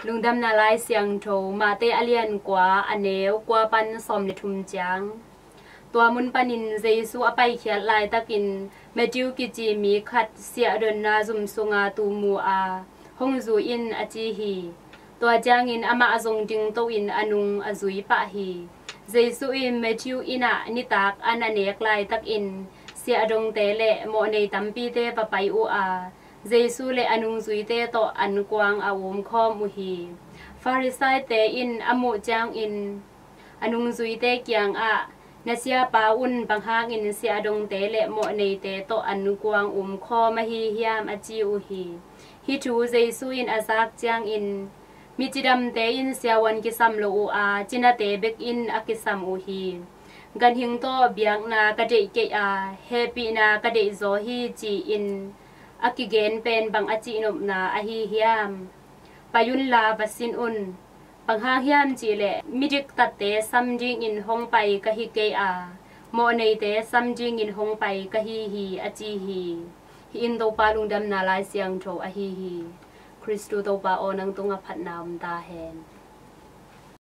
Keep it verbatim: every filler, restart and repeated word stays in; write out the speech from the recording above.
Lungdamna Lai Siangtho, Mate a lian kua, a neu kua pan sawm le thum ciang. Tua mun panin Jesu a paikhiat laitakin Matthew kici mi khat siahdonna zum sunga tuu mu a, hong zui in, a ci hi. Tua ciangin amah zong dingto in a nung a zui pah hi. Jesu in Matthew inn ah nitak an a nek laitakin siahdongte le mawhnei tampite va pai uh a, Jesu le a nungzuite tawh ankuang a umkhawm uh hi. Farisaite in a muh ciangin a nungzuite kiangah, "Na siapa un bang hangin siahdongte le mawhneite tawh ankuang umkhawm ahi hiam?" a ci uh hi. Hih thu Jesu in a zak ciangin, "Mi cidamte in siavuan kisam lo uh a, cinate bek in a kisam uh hi. Ganhing tawh biakna ka deih kei a, hehpihna ka deih zaw hi," ci-in a kigen pen bang a cihnopna ahi hiam? "Pai unla va sin un. Bang hang hiam cihleh midiktatte sam dingin hong pai ka hi kei a, mawhneite sam dingin hong pai ka hi hi," a ci hi. Hih in Topa Lungdamna Lai Siangtho ahi hi. Khristu Topa aw, nang tungah phatna om ta hen.